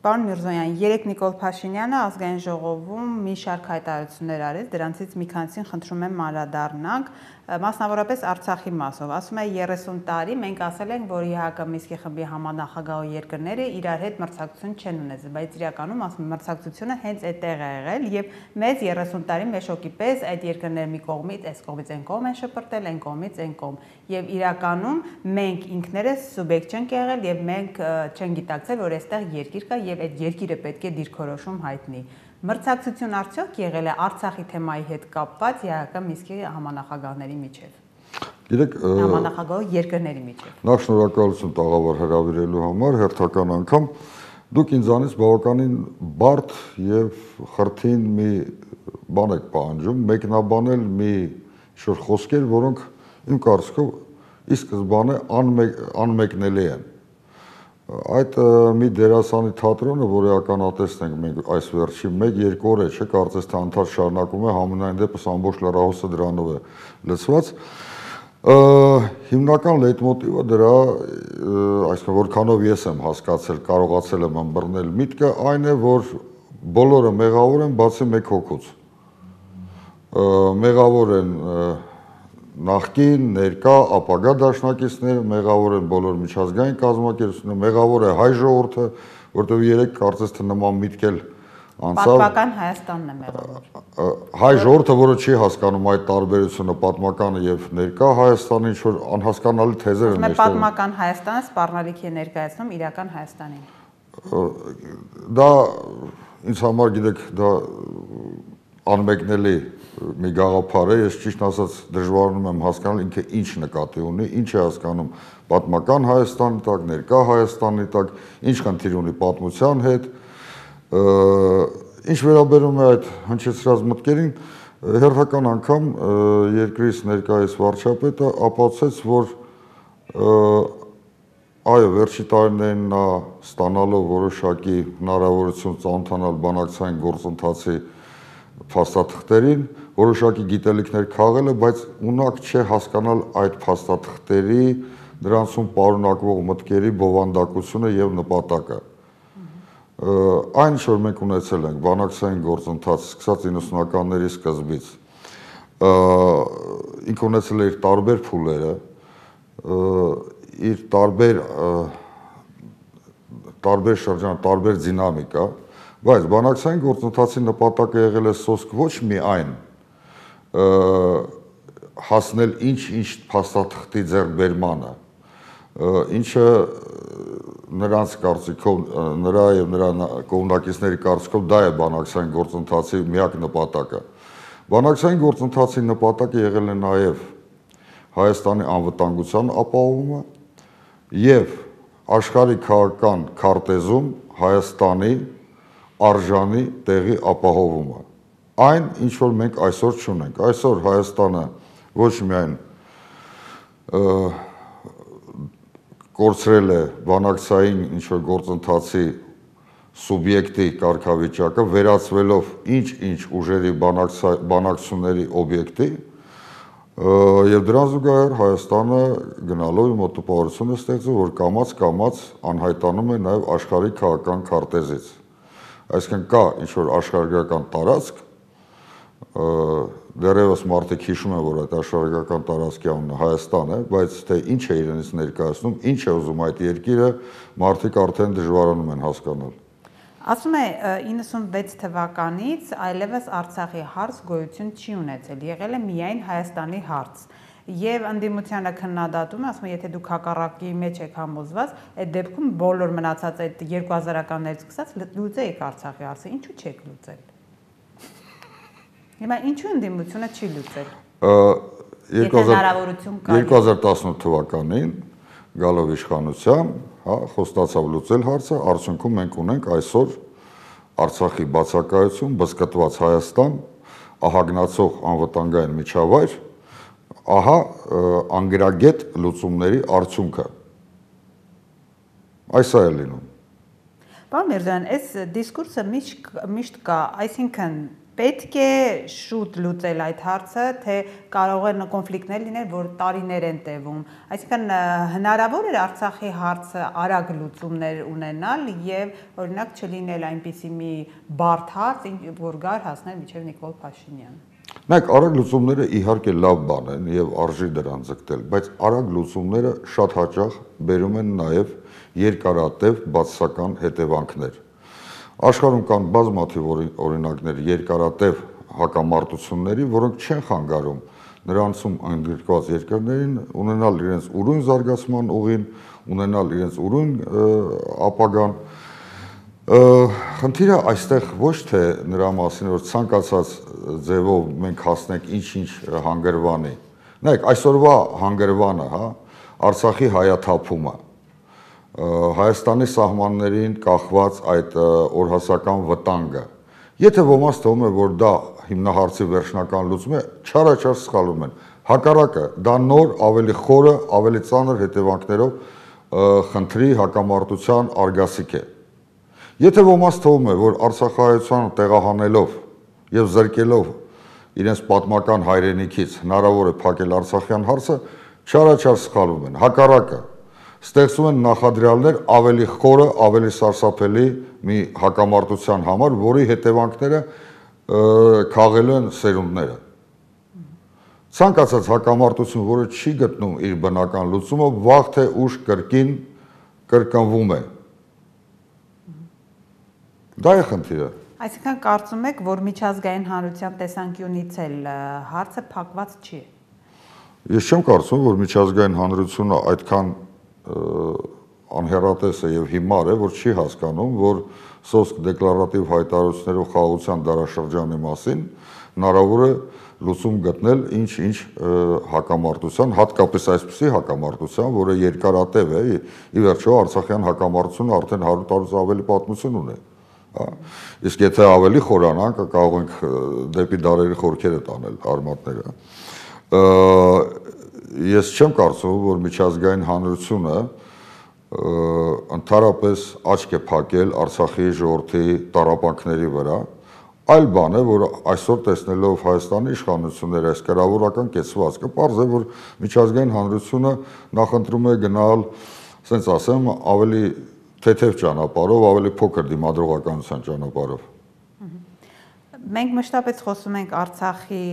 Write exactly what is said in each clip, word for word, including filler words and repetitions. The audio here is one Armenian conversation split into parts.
Պարոն Միրզոյան, երեկ Նիկոլ Փաշինյանը ազգային ժողովում մի շարք հայտարարություններ արեց, դրանցից մի քանիսին խնդրում եմ անդրադառնանք, մասնավորապես Արցախի մասով։ Ասում է երեսուն տարի մենք ասել ենք, որ ԵՀԿ Մինսկի խմբի համանախագահող երկրները իրար հետ մրցակցություն չեն ունեցել, բայց իրականում ասում մրցակցությունը հենց այդտեղ է եղել եւ մեծ երեսուն տարի մեշոկի պես այդ երկրները մի կողմից, այս կողմից այն կողմ են շպրտել, այն կողմից այն կողմ։ Եվ իրականում մենք ինքներս սուբյեկտ չենք եղել եւ մենք չենք գիտակցել, որ այստեղ երկիր կա եւ այդ երկիրը պետք է դիրքորոշում հայտնի։ Մրցակցություն արդյոք եղել է Արցախի թեմայի հետ կապված ԵՀԿ Մինսկի համանախագահների միջև։ Գիտեք, համանախագահող երկրների միջև։ Նախ շնորհակալություն տաղավար հրավիրելու համար, հերթական անգամ դուք ինձանից բավականին բարդ եւ խրթին մի բան եք պահանջում, մեկնաբանել մի շուտ խոսքեր, որոնք իմ կարծիքով ի սկզբանե անմեկնելի են։ Այդ մի դերասանի թատրոնը, որ ականատեսն ենք մենք այս վերջի մեկ-երկու օր է, չէ, կարծես թե անդադար շարունակում է, համենայն դեպս ամբողջ լրահոսը դրանով է լցված։ Հիմնական լեյտմոտիվը դրա, այսինքն որքանով ես եմ հասկացել, կարողացել եմ ըմբռնել միտքը, այն է, որ բոլորը մեղավոր են, բացի մեկ հոգուց։ Մեղավոր են նախկին, ներկա, ապագա դաշնակիցները, մեղավոր են բոլոր միջազգային կազմակերպությունները, մեղավոր է հայ ժողովուրդը, որտեղ երեք կարծես թե նման միտք էլ անցավ։ Պատմական Հայաստանն է մեղավոր։ Հայ ժողովուրդը, որը չի հասկանում այդ տարբերությունը պատմականը եւ ներկա Հայաստանի, ինչ որ անհասկանալի թեզեր են։ Պատմական Հայաստանը սպառնալիք է ներկայացնում իրական Հայաստանին։ Դա ինձ համար, գիտեք, դա անմեկնելի մի գաղափար է, ես ճիշտ ասած դժվարանում եմ հասկանալ ինքը ինչ նկատի ունի, ինչ է հասկանում պատմական Հայաստանի տակ, ներկա Հայաստանի տակ, ինչ խնդիր ունի պատմության հետ, ինչ վերաբերում է այդ հնչեցրած մտքերին, հերթական անգամ երկրից ներկայիս վարչապետը ապացուցեց, որ այո, վերջի տարիներին նա ստանալով որոշակի հնարավորություն ծանոթանալ բանակցային գործընթացի փաստաթղթերին, որոշակի գիտելիքներ քաղել է, բայց ունակ չէ հասկանալ այդ փաստաթղթերի դրանցում պարունակվող մտքերի բովանդակությունը եւ նպատակը։ Այն, որ մենք ունեցել ենք բանակցային գործընթաց սկսած իննսունականների սկզբից, ինքը ունեցել է իր տարբեր փուլերը, իր տարբեր տարբեր շրջան, տարբեր դինամիկա, բայց բանակցային գործընթացի նպատակը եղել է սոսկ ոչ միայն հասնել ինչ-ինչ փաստաթղթի ձեռքբերմանը, ինչը նրանց կարծիքով, նրա եւ նրա կողմնակիցների կարծիքով դա է բանակցային գործընթացի միակ նպատակը։ Բանակցային գործընթացի նպատակը եղել է նաեւ Հայաստանի անվտանգության ապահովումը եւ աշխարհի քաղաքական քարտեզում Հայաստանի արժանի տեղի ապահովումը։ Այն, ինչ որ մենք այսօր չունենք։ Այսօր Հայաստանը ոչ միայն կորցրել է բանակցային ինչ որ գործընթացի սուբյեկտի կարգավիճակը, վերածվելով ինչ-ինչ ուժերի բանակցությունների օբյեկտի, եւ դրան զուգահեռ Հայաստանը գնալով իմ տպավորությունը ստեղծում, որ կամաց-կամաց անհայտանում է նաեւ աշխարհի քաղաքական քարտեզից։ Այսինքն կա ինչ որ աշխարհագրական տարածք, դեռևս մարդիկ հիշում են, որ այդ աշխարհագրական տարածքի անունը Հայաստան է, բայց թե ինչ է իրենից ներկայացնում, ինչ է ուզում այդ երկիրը, մարդիկ արդեն դժվարանում են հասկանալ։ Ասում է իննսունվեց թվականից այլևս Արցախի հարց գոյություն չի ունեցել, եղել է միայն Հայաստանի հարց։ Եվ ընդդիմությանը քննադատում, ասում է, եթե դուք հակառակի մեջ եք համոզված, այդ դեպքում բոլոր մնացած այդ երկու հազարականներից սկսած լուծեիք Արցախի հարցը, ինչու չեք լուծել։ Հիմա ինչու ընդդիմությունը չի լուծել։ երկու հազար տասնութ թվականին գալով իշխանության, հա, խոստացավ լուծել հարցը, արդյունքում մենք ունենք այսօր Արցախի բացակայություն, բզկտված Հայաստան, ահագնացող անվտանգային միջավայր, ահա անգրագետ լուծումների արդյունքը։ Այս է լինում։ Պարոն Միրզոյան, այս դիսկուրսը միշտ կա, այսինքն Պետք է շուտ լուծել այդ հարցը, թե կարող են կոնֆլիկտներ լինել, որ տարիներ են տևում։ Այսինքն հնարավոր է Արցախի հարցը արագ լուծումներ ունենալ եւ օրինակ չլինել այնպիսի մի բարդ հարց, որ գար հասնել մինչեւ Նիկոլ Փաշինյան։ Նայեք, արագ լուծումները իհարկե լավ բան են եւ արժի դրան ձգտել, բայց արագ լուծումները շատ հաճախ բերում են նաեւ երկարատև բացասական հետևանքներ։ Աշխարհում կան բազմաթիվ օրինակներ երկարատև հակամարտությունների, որոնք չեն խանգարում նրանցում ընդգրկված երկրներին ունենալ իրենց ուրույն զարգացման ուղին, ունենալ իրենց ուրույն ապագան։ Խնդիրը այստեղ ոչ թե նրա մասին, որ ցանկացած ձևով մենք հասնենք ինչ-ինչ հանգրվանի։ Նայեք, այսօրվա հանգրվանը, հա, Արցախի հայաթափումը, Հայաստանի սահմաններին կախված այդ օրհասական վտանգը։ Եթե ոմանց թվում է, որ դա հիմնահարցի վերջնական լուծում է, չարաչար սխալվում են։ Հակառակը, դա նոր, ավելի խորը, ավելի ծանր հետևանքներով խնդրի հակամարտության արգասիկ է։ Եթե ոմանց թվում է, որ Արցախահայությանը տեղահանելով եւ զրկելով իրենց պատմական հայրենիքից հնարավոր է փակել Արցախյան հարցը, չարաչար սխալվում են։ Հակառակը, ստեղծում են նախադրյալներ ավելի խորը, ավելի սարսափելի մի հակամարտության համար, որի հետևանքները քաղելու են սերունդները։ Ցանկացած հակամարտություն, որը չի գտնում իր բնական լուծումը, վաղ թե ուշ կրկին կրկնվում է։ Դա է խնդիրը։ Այսինքն կարծում եք, որ միջազգային հանրության տեսանկյունից էլ հարցը փակված չի։ Ես չեմ կարծում, որ միջազգային հանրությունը այդքան անհեռատես է եւ հիմար է, որ չի հասկանում, որ սոսկ դեկլարատիվ հայտարարություններով խաղաղության դարաշրջանի մասին հնարավոր է լուծում գտնել ինչ-ինչ հակամարտության, հատկապես այսպիսի հակամարտության, որը երկարատև է, ի վերջո Արցախյան հակամարտությունը արդեն հարյուր տարուց ավելի պատմություն ունի։ Իսկ եթե ավելի խորանանք, կարող ենք դեպի դարերի խորքերը տանել արմատները։ Ես չեմ կարծում, որ միջազգային հանրությունը ընդհանրապես աչք է փակել Արցախի ժողովրդի տառապանքների վրա, այլ բան է, որ այսօր տեսնելով Հայաստանի իշխանությունները այս կրավորական կեցվածքը, պարզ է, որ միջազգային հանրությունը նախընտրում է գնալ, ասենց ասեմ, ավելի թեթև ճանապարհով, ավելի փոքր դիմադրողականության ճանապարհով։ Մենք մշտապես խոսում ենք Արցախի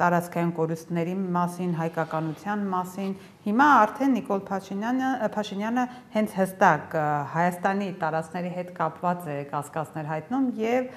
տարածքային կորուստների մասին, հայկականության մասին։ Հիմա արդեն Նիկոլ Փաշինյանը, Փաշինյանը հենց հստակ Հայաստանի տարածքների հետ կապված է կասկածներ հայտնում եւ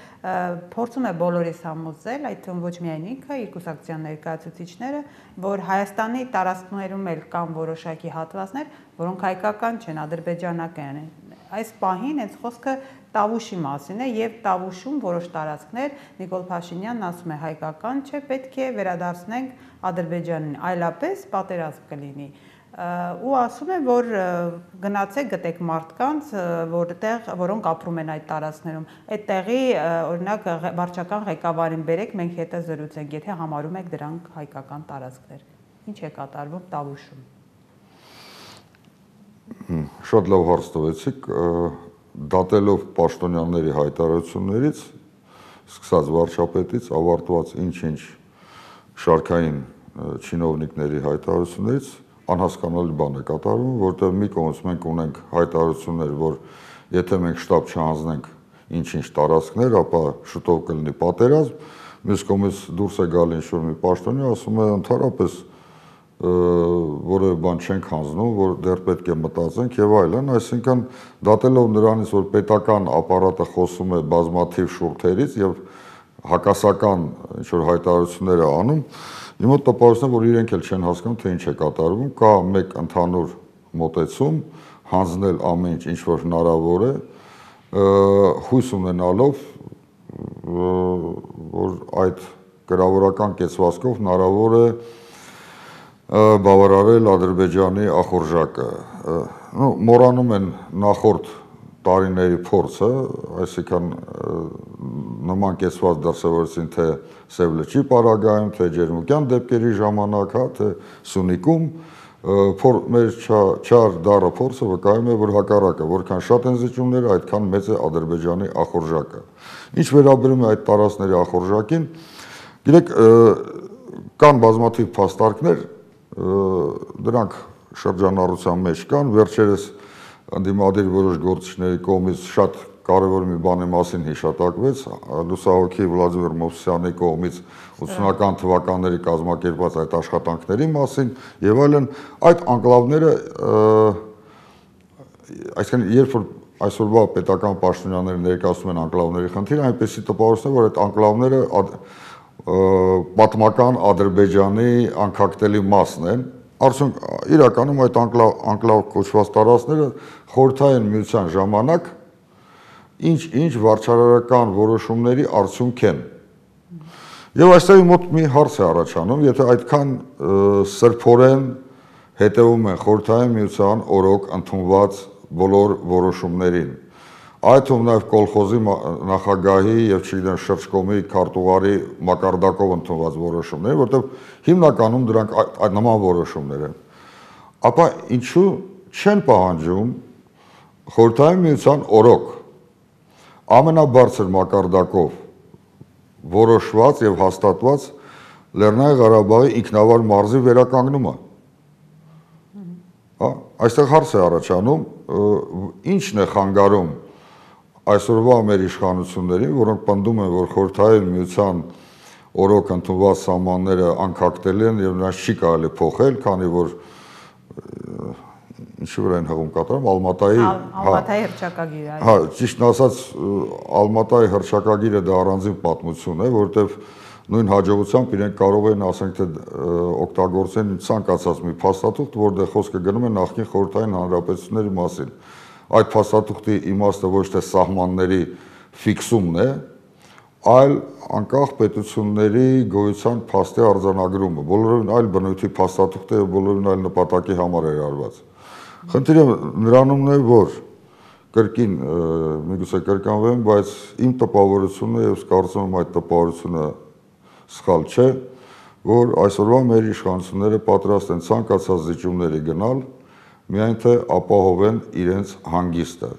փորձում է բոլորիս համոզել, այդ թվում ոչ միայն ինքը, իր կուսակցության ներկայացուցիչները, որ Հայաստանի տարածքներում էլ կան որոշակի հատվածներ, որոնք հայկական չեն, ադրբեջանական են։ Այս պահին հենց խոսքը Տավուշի մասին է եւ Տավուշում որոշ տարածքներ Նիկոլ Փաշինյանն ասում է հայկական չէ, պետք է վերադարձնենք Ադրբեջանին, այլապես պատերազմ կլինի։ Ու ասում է, որ գնացեք գտեք մարդկանց, որտեղ որոնք ապրում են այդ տարածքներում։ Այդտեղի օրինակ վարչական ղեկավարին բերեք, մենք հետը զրուցենք, եթե համարում եք դրանք հայկական տարածքներ։ Ինչ է կատարվում Տավուշում։ Շատ լավ հարց տվեցիք, դատելով պաշտոնյաների հայտարարություններից, սկսած վարչապետից, ավարտված ինչ-ինչ շարքային չինովնիկների հայտարարություններից, անհասկանալի բան է կատարվում, որտեղ մի կողմից մենք ունենք հայտարարություններ, որ եթե մենք շտապ չհանձնենք ինչ-ինչ տարածքներ, ապա շուտով կլինի պատերազմ, մյուս կողմից դուրս է գալի ինչ-որ մի պաշտոնյա, ասում է ընդհանրապես որևէ բան չենք հանձնում, որ դեռ պետք է մտածենք եւ այլն, այսինքն դատելով նրանից, որ պետական ապարատը խոսում է բազմաթիվ շուրթերից եւ հակասական ինչ-որ հայտարարություններ է անում, իմ մոտ տպավորությունն է, որ իրենք էլ չեն հասկանում, թե ինչ է կատարվում, կա մեկ ընդհանուր մոտեցում, հանձնել ամեն ինչ, ինչ որ հնարավոր է, հույս ունենալով, որ այդ կրավորական կեցվածքով հնարավոր է բավարարել Ադրբեջանի ախորժակը։ Մոռանում են նախորդ տարիների փորձը, այսինքն նման կեցված դրսևորեցին թե Սև լճի պարագայում, թե Ջերմուկյան դեպքերի ժամանակ, հա, թե Սյունիքում, Փոր մեր չար դառը փորձը վկայում է, որ հակառակը, որքան շատ են զիջումները, այդքան մեծ է Ադրբեջանի ախորժակը։ Ինչ վերաբերում է այդ տարածքների ախորժակին, գիտեք, կան բազմաթիվ փաստարկներ, դրանք շրջանառության մեջ կան, վերջերս ընդդիմադիր որոշ գործիչների կողմից շատ կարևոր մի բանի մասին հիշատակվեց, լուսահոգի Վլադիմիր Մովսիսյանի կողմից ութսունական թվականների կազմակերպած այդ աշխատանքների մասին եւ այլն, այդ անկլավները, այսինքն երբ որ այսօրվա պետական պաշտոնյաները ներկայացնում են անկլավների խնդիրը, այնպեսի տպավորություն է, որ այդ անկլավները պատմական Ադրբեջանի անկախտելի մասն են, արդյոք իրականում այդ անկլավ կոչված տարածքները խորհրդային միության ժամանակ ինչ-ինչ վարչարարական որոշումների արդյունք են։ Եվ այստեղ մոտ մի հարց է առաջանում, եթե այդքան սրբորեն հետևում են խորհրդային միության օրոք ընդունված բոլոր որոշումներին, այդ թվում նաև կոլխոզի նախագահի եւ չգիտեմ շրջկոմի քարտուղարի մակարդակով ընդունված որոշումներ, որտեղ հիմնականում դրանք այդ նման որոշումներ են, ապա ինչու չեն պահանջում խորհրդային միության օրոք ամենաբարձր մակարդակով որոշված եւ հաստատված Լեռնային Ղարաբաղի ինքնավար մարզի վերականգնումը։ Հա, այստեղ հարց է առաջանում, ինչն է խանգարում այսօրվա մեր իշխանություններին, որոնք պնդում են, որ խորհրդային միության օրոք ընդունված սահմանները անկախտելի են եւ նրանց չի կարելի փոխել, քանի որ ինչի վրա են հղում կատարում, Ալմատայի Ալմատայի հռչակագիրը։ Հա, ճիշտն ասած, Ալմատայի հռչակագիրը դա առանձին պատմություն է, որովհետեւ նույն հաջողությամբ իրենք կարող են, ասենք թե, օգտագործեն ցանկացած մի փաստաթուղթ, որտեղ խոսքը գնում է նախկին խորհրդային հանրապետությունների մասին։ Այդ փաստաթուղթի իմաստը ոչ թե սահմանների ֆիքսումն է, այլ անկախ պետությունների գոյության փաստի արձանագրումը, բոլորովին այլ բնույթի փաստաթուղթ է, բոլորովին այլ նպատակի համար է արված։ Խնդիրը նրանումն է, որ կրկին, միգուցե կրկնվեմ, բայց իմ տպավորությունը եւ կարծում եմ այդ տպավորությունը սխալ չէ, որ այսօրվա մեր իշխանությունները պատրաստ են ցանկացած զիջումների գնալ, միայն թե ապահովեն իրենց հանգիստը,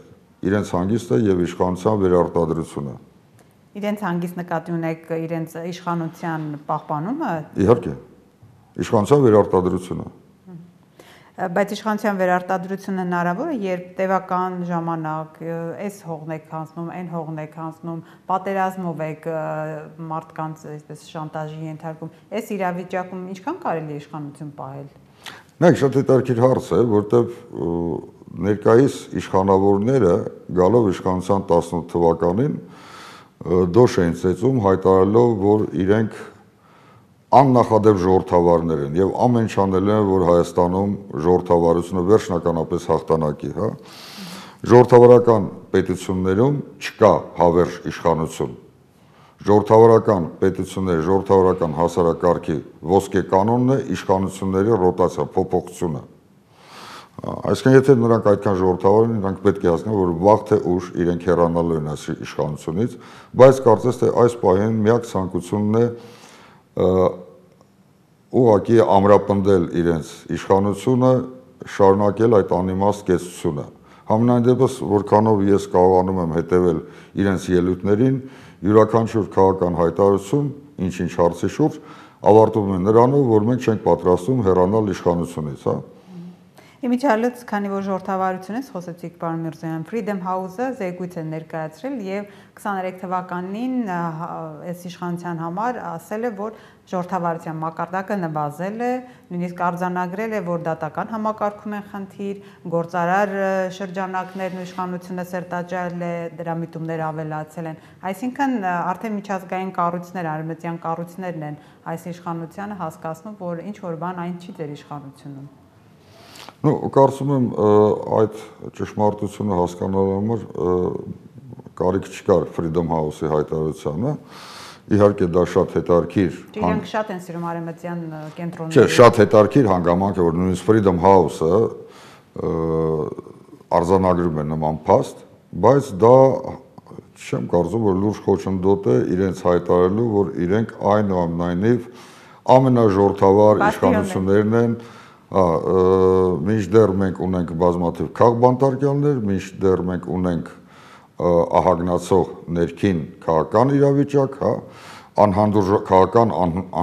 իրենց հանգիստը եւ իշխանության վերարտադրությունը։ Իրենց հանգիստ նկատի ունեք իրենց իշխանության պահպանումը։ Իհարկե, իշխանության վերարտադրությունը։ Բայց իշխանության վերարտադրությունը հնարավոր է, երբ տևական ժամանակ այս հողն եք հանձնում, այն հողն եք հանձնում, պատերազմով եք մարդկանց այսպես շանտաժի ենթարկում, այս իրավիճակում ինչքան կարելի է իշխանություն պահել։ Նայեք, շատ հետաքրքիր հարց է, որտեղ ներկայիս իշխանավորները գալով իշխանության տասնութ թվականին դոշ էին ծեծում, հայտարարելով, որ իրենք աննախադեպ ժողովրդավարներ են եւ ամեն ինչ անել են, որ Հայաստանում ժողովրդավարությունը վերջնականապես հաղթանակի, հա։ Ժողովրդավարական պետություններում չկա հավերժ իշխանություն։ Ժողովրդավարական պետությունների, ժողովրդավարական հասարակարգի ոսկե կանոնն է իշխանությունների ռոտացիա, փոփոխությունը։ Այսինքն, եթե նրանք այդքան ժողովրդավար են, նրանք պետք է հասկանան, որ վաղ թե ուշ իրենք հեռանալու են այս իշխանությունից, բայց կարծես թե այս պահին միակ ցանկությունն է ուղղակի ամրապնդել իրենց իշխանությունը, շարունակել այդ անիմաստ կեցությունը։ Համենայն դեպս, որքանով ես կարողանում եմ հետևել իրենց ելույթներին, յուրաքանչյուր քաղաքական հայտարարություն, ինչ-ինչ հարցի շուրջ, ավարտվում է նրանով, որ մենք չենք պատրաստվում հեռանալ իշխանությունից, հա։ Իմիջիալից, քանի որ ժողովրդավարությունից խոսեցիք, պարոն Միրզոյան, Freedom House-ը զեկույց է ներկայացրել եւ քսաներեք թվականին այս իշխանության համար ասել է, որ ժողովրդավարության մակարդակը նվազել է, նույնիսկ արձանագրել է, որ դատական համակարգում են խնդիր, գործարար շրջանակներն ու իշխանությունը սերտաճարել է, դրա միտումները ավելացել են։ Այսինքն արդեն միջազգային կառույցներ, արևմտյան կառույցներն են այս իշխանությանը հասկացնում, որ ինչ որ բան այն չի ձեր իշխանությունում։ Ну, կարծում եմ այդ ճշմարտությունը հասկանալու համար կարիք չկար Freedom House-ի հայտարարությանը։ Իհարկե դա շատ հետաքրքիր։ Իրանք շատ են սիրում արևմտյան կենտրոնները։ Չէ, շատ հետաքրքիր հանգամանք է, որ նույնիսկ Freedom House-ը արձանագրում է նման փաստ, բայց դա չեմ կարծում, որ լուրջ խոչընդոտ է իրենց հայտարարելու, որ իրենք այնուամենայնիվ ամենաժողովրդավար իշխանություններն են Հա, մինչդեռ մենք ունենք բազմաթիվ քաղբանտարկյալներ, մինչդեռ մենք ունենք ահագնացող ներքին քաղաքական իրավիճակ, հա, քաղաքական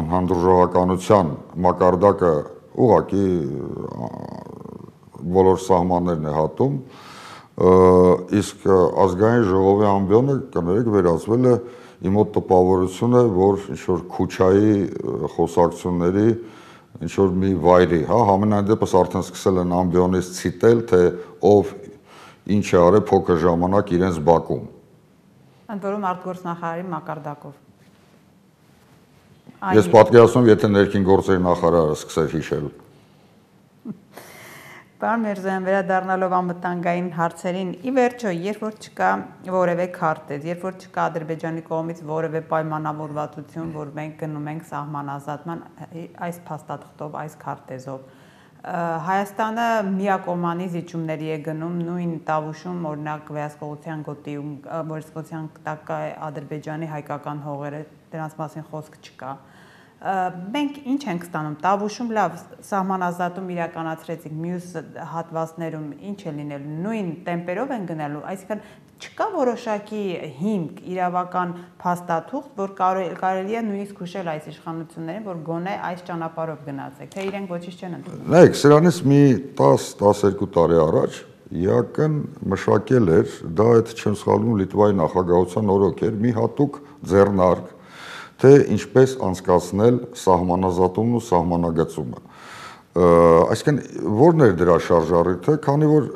անհանդուրժողականության մակարդակը ուղղակի բոլոր սահմաններն է հատում, իսկ ազգային ժողովի ամբիոնը կներեք վերածվել է իմ մոտ տպավորություն է, որ ինչ-որ Քուչայի խոսակցությունների ինչ-որ մի վայրի, հա, համենայն դեպս արդեն սկսել են ամբիոնից ցիտել, թե ով ինչ է արել փոքր ժամանակ իրենց բակում։ Ընդ որում արտգործնախարարի մակարդակով։ Ես պատկերացնում, եթե ներքին գործերի նախարարը սկսեր հիշել։ Պարոն Միրզոյան, վերադառնալով անվտանգային հարցերին, ի վերջո, երբ որ չկա որևէ քարտեզ, երբ որ չկա Ադրբեջանի կողմից որևէ պայմանավորվածություն, որ մենք գնում ենք սահմանազատման այս փաստաթղթով, այս քարտեզով, Հայաստանը միակողմանի զիջումների է գնում, նույն Տավուշում, օրինակ վերահսկողության գոտիում, վերահսկողության տակ է Ադրբեջանի հայկական հողերը, դրանց մասին խոսք չկա։ Մենք ինչ ենք ստանում, Տավուշում լավ սահմանազատում իրականացրեցինք, մյուս հատվածներում ինչ է լինելու, նույն տեմպերով են գնալու, այսինքն չկա որոշակի հիմք, իրավական փաստաթուղթ, որ կարելի է նույնիսկ հուշել այս իշխանություններին, որ գոնե այս ճանապարհով գնացեք, թե իրենք ոչինչ չեն ընդունում։ Նայեք, սրանից մի տասը տասներկու տարի առաջ ԵԱԿ-ն մշակել էր, դա այդ չեմ սխալվում Լիտվայի նախագահության օրոք էր, մի հատուկ ձեռնարկ, թե ինչպես անցկացնել սահմանազատումն ու սահմանագծումը։ Այսինքն ո՞րն էր դրա շարժառիթը, քանի որ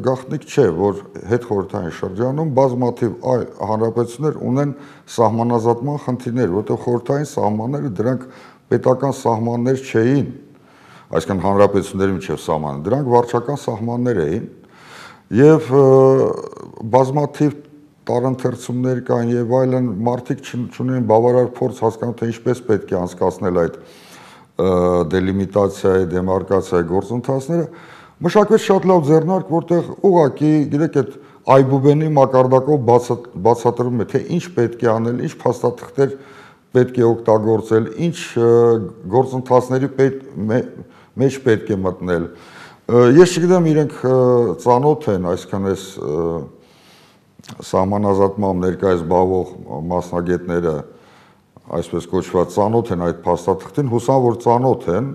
գաղտնիք չէ, որ հետխորհրդային շրջանում բազմաթիվ այլ հանրապետություններ ունեն սահմանազատման խնդիրներ, որտեղ խորհրդային սահմանները դրանք պետական սահմաններ չէին, այսինքն հանրապետությունների միջև սահմանը, դրանք վարչական սահմաններ էին եւ բազմաթիվ տարընթերցումներ կան եւ այլն, մարդիկ չունեն բավարար փորձ հասկանալ, թե ինչպես պետք է անցկացնել այդ դելիմիտացիայի, դեմարկացիայի գործընթացները, մշակվեց շատ լավ ձեռնարկ, որտեղ ուղղակի, գիտեք, այդ այբուբենի մակարդակով բացատրում է, թե ինչ պետք է անել, ինչ փաստաթղթեր պետք է օգտագործել, ինչ գործընթացների մեջ պետք է մտնել։ Ես չգիտեմ, իրենք ծանոթ են, այսքան էս սահմանազատմամբ ներկայիս զբաղվող մասնագետները, այսպես կոչված ծանոթ են այդ փաստաթղթին, հուսամ որ ծանոթ են,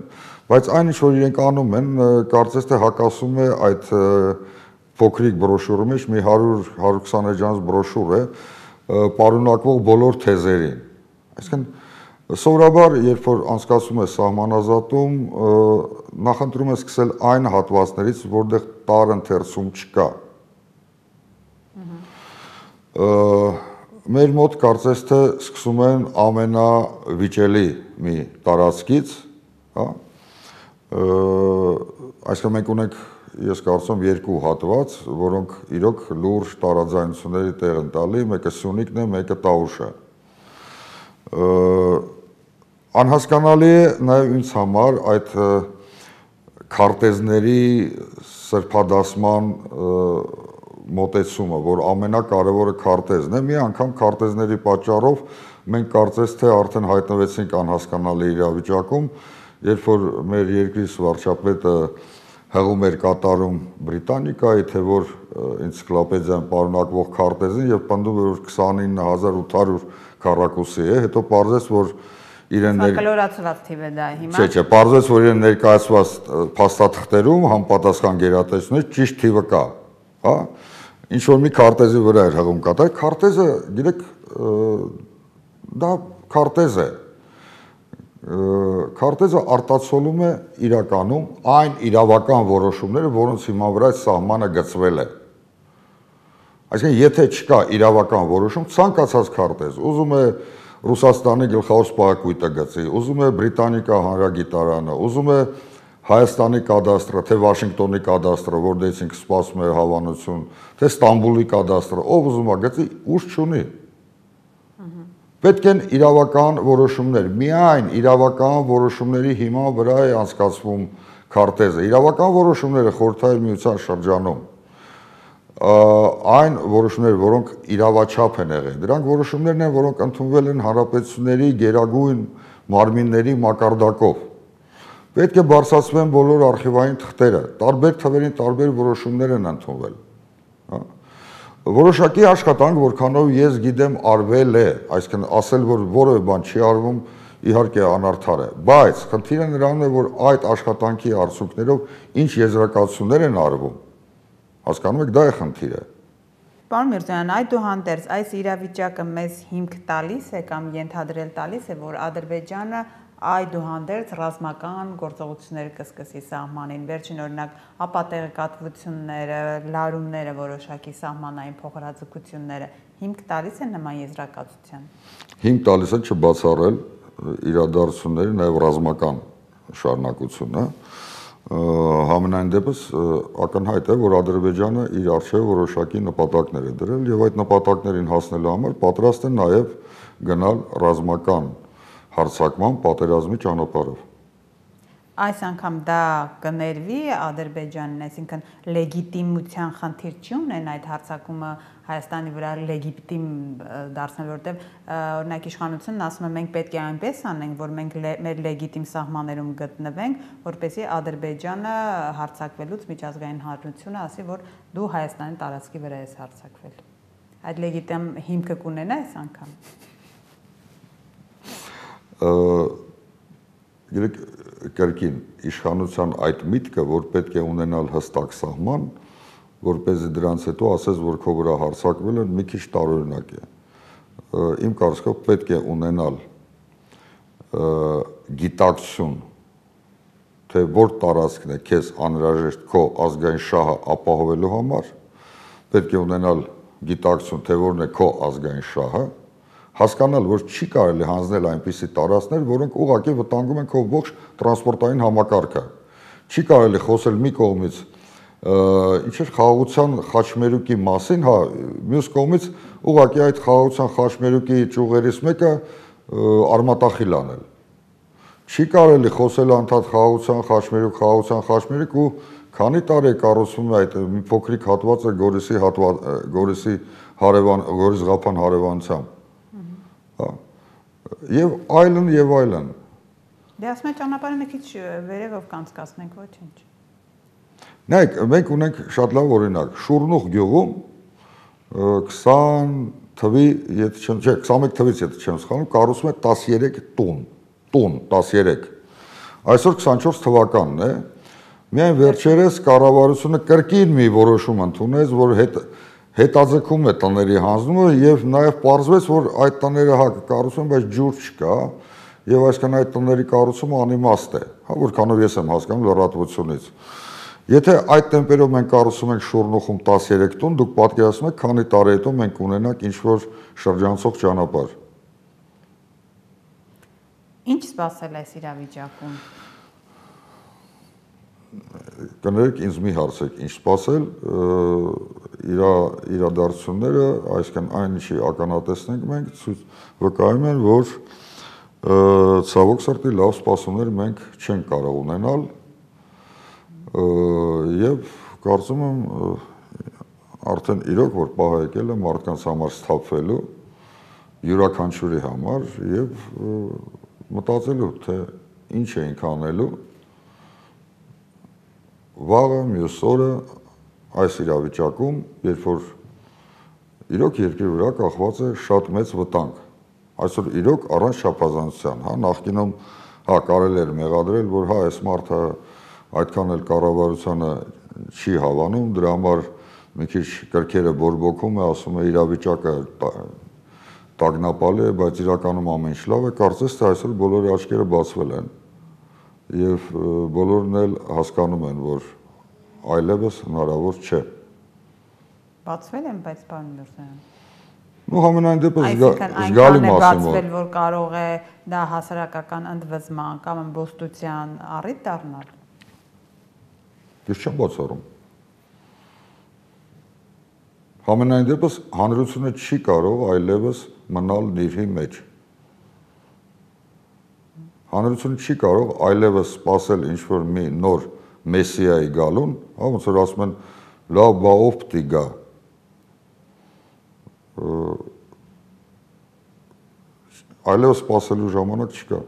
բայց այն ինչ որ իրենք անում են, կարծես թե հակասում է այդ փոքրիկ բրոշյուրի մեջ մի հարյուր հարյուր քսան էջանոց բրոշյուր է, պարունակվող բոլոր թեզերին։ Այսինքն սովորաբար, երբ որ անցկացում է սահմանազատում, նախընտրում է սկսել այն հատվածներից, որտեղ տարընթերցում չկա։ Մեր մոտ կարծես թե սկսում են ամենավիճելի մի տարածքից, հա, այսինքն մենք ունենք, ես կարծում երկու հատված, որոնք իրոք լուրջ տարաձայնությունների տեղ են տալի, մեկը Սյունիքն է, մեկը Տավուշը։ Անհասկանալի է նաև ինձ համար այդ քարտեզների սրբադասման մոտեցումը, որ ամենակարևորը քարտեզն է, մի անգամ քարտեզների պատճառով մենք կարծես թե արդեն հայտնվեցինք անհասկանալի իրավիճակում, երբ որ մեր երկրի վարչապետը հղում էր կատարում Բրիտանիկայի, թե որ էնցիկլոպեդիայում պարունակվող քարտեզին եւ պնդում էր որ քսանինը հազար ութ հարյուր քառակուսի է, հետո պարզեց որ իրեն կլորացված թիվ է դա հիմա։ Չէ, չէ, պարզեց որ իրեն ներկայացված փաստաթղթերում համապատասխան գերատեսչությունից ճիշտ թիվը կա, հա։ Ինչ որ մի քարտեզի վրա էր հղում կատարել, քարտեզը, գիտեք, դա քարտեզ է։ Քարտեզը արտացոլում է իրականում այն իրավական որոշումները, որոնց հիման վրա սահմանը գծվել է։ Այսինքն, եթե չկա իրավական որոշում, ցանկացած քարտեզ, ուզում է Ռուսաստանի գլխավոր սպայակույտը գծի, ուզում է Բրիտանիկա հանրագիտարանը, ուզում է Հայաստանի կադաստրը, թե Վաշինգտոնի կադաստրը, որտեղից ինքը սպասում է հավանություն, թե Ստամբուլի կադաստրը, ով ուզում է գծի, ուժ չունի։ Պետք են իրավական որոշումներ, միայն իրավական որոշումների հիման վրա է անցկացվում քարտեզը։ Իրավական որոշումները խորհրդային միության շրջանում այն որոշումները, որոնք իրավաչափ են եղել, դրանք որոշումներն են, որոնք ընդունվել են հանրապետությունների գերագույն մարմինների մակարդակով։ Պետք է բարձրացվեն բոլոր արխիվային թղթերը, տարբեր թվերին տարբեր որոշումներ են ընդունվել։ Որոշակի աշխատանք, որքանով ես գիտեմ, արվել է, այսինքն ասել, որ որևէ բան չի արվում, իհարկե անարդար է, բայց խնդիրը նրանում է, որ այդ աշխատանքի արդյունքներով ինչ եզրակացություններ են արվում, հասկանում եք, դա է խնդիրը։ Պարոն Միրզոյան, այդուհանդերձ այս իրավիճակը մեզ հիմք տալիս է կամ ենթադրել տալիս է, որ Ադրբեջանը այդուհանդերձ ռազմական գործողություններ կսկսի սահմանին, վերջին օրինակ ապատեղեկատվությունները, լարումները, որոշակի սահմանային փոխհրաձգությունները հիմք տալիս են նման եզրակացության։ Հիմք տալիս է չբացառել իրադարձությունների նաև ռազմական շարունակությունը, համենայն դեպս ակնհայտ է, որ Ադրբեջանը իր առջև որոշակի նպատակներ է դրել եւ այդ նպատակներին հասնելու համար պատրաստ է նաև գնալ ռազմական հարձակման պատերազմի ճանապարհով։ Այս անգամ դա կներվի Ադրբեջանին, այսինքն լեգիտիմության խնդիր չի ունեն այդ հարձակումը Հայաստանի վրա լեգիտիմ դարձնել, որտեղ օրինակ իշխանությունն ասում է մենք պետք է այնպես անենք, որ մենք մեր լեգիտիմ սահմաններում գտնվենք, որպեսզի Ադրբեջանը հարձակվելուց միջազգային հանրությունը ասի, որ դու Հայաստանի տարածքի վրա ես հարձակվել։ Այդ լեգիտիմ հիմքը կունենա այս անգամ։ Գիտեք, կրկին իշխանության այդ միտքը, որ պետք է ունենալ հստակ սահման, որպեսզի դրանց հետո ասես, որ քո վրա հարձակվել են, մի քիչ տարօրինակ է։ Իմ կարծիքով պետք է ունենալ գիտակցություն, թե որ տարածքն է քեզ անհրաժեշտ քո ազգային շահը ապահովելու համար, պետք է ունենալ գիտակցություն, թե որն է քո ազգային շահը, հասկանալ, որ չի կարելի հանձնել այնպիսի տարածքներ, որոնք ուղղակի վտանգում են քո ողջ տրանսպորտային համակարգը։ Չի կարելի խոսել մի կողմից ինչ էր խաղաղության խաչմերուկի մասին, հա, մյուս կողմից ուղղակի այդ խաղաղության խաչմերուկի ճյուղերից մեկը արմատախիլ անել։ Չի կարելի խոսել անդադ խաղաղության խաչմերուկ, խաղաղության խաչմերուկ ու քանի տարի է կառուցվում այդ մի փոքրիկ հատվածը Գորիսի հատված, Գորիսի հարևան, Գորիս-Ղափան հարևանությամբ։ Հա։ Եվ այլն եւ այլն։ Դե ասում եք ճանապարհը մի քիչ վերևով կանցկացնենք, ոչինչ։ Նայեք, մենք ունենք շատ լավ օրինակ, Շուրնուղ գյուղում քսան թվի, եթե չեմ, չէ, քսանմեկ թվից եթե չեմ սխալվում, կառուցվում է տասներեք տուն, տուն տասներեք։ Այսօր քսանչորս թվականն է, միայն վերջերս կառավարությունը կրկին մի որոշում ընդունեց, որ հետ հետաձգում է տների հանձնումը եւ նաեւ պարզվեց, որ այդ տները հա կառուցվում, բայց ջուր չկա եւ այսքան այդ տների կառուցումը անիմաստ է, հա որքանով ես եմ հասկանում լրատվությունից։ Եթե այդ տեմպերով մենք կառուցում ենք Շուրնուղում տասներեք տուն, դուք պատկերացնում եք, քանի տարի հետո մենք ունենանք ինչ-որ շրջանցող ճանապարհ։ Ինչ սպասել այս իրավիճակում։ Կներեք, ինձ մի հարցեք, ինչ սպասել, իրա իրադարձությունները, այսինքն այն ինչի ականատեսնենք մենք, ցույց վկայում են, որ ցավոք սրտի լավ սպասումներ մենք չենք կարող ունենալ եւ կարծում եմ արդեն իրոք որ պահը եկել է մարդկանց համար սթափվելու յուրաքանչյուրի համար եւ մտածելու թե ինչ էինք անելու վաղը մյուս օրը այս իրավիճակում, երբ որ իրոք երկրի վրա կախված է շատ մեծ վտանգ, այսօր իրոք առանց չափազանցության, հա, նախկինում հա կարելի էր մեղադրել, որ հա այս մարդը այդքան էլ կառավարությանը չի հավանում, դրա համար մի քիչ կրքերը բորբոքում է, ասում է իրավիճակը տագնապալի է, բայց իրականում ամեն ինչ լավ է, կարծես թե այսօր բոլորի աչքերը բացվել են եւ բոլորն էլ հասկանում են, որ այլևս հնարավոր չէ։ Բացվել են, բայց պարոն Միրզոյան։ Ну համենայն դեպս զգալի մասը բացվել, որ կարող է դա հասարակական ընդվզման կամ ըմբոստության առիթ դառնալ։ Ես չեմ բացառում։ Համենայն դեպս հանրությունը չի կարող այլևս մնալ նիրհի մեջ։ Հանրությունը չի կարող այլևս սпасել ինչ-որ մի նոր մեսիայի գալուն, հա ոնց որ ասում են լավ բա ով պիտի գա։ Այլևս սпасելու ժամանակ չկա։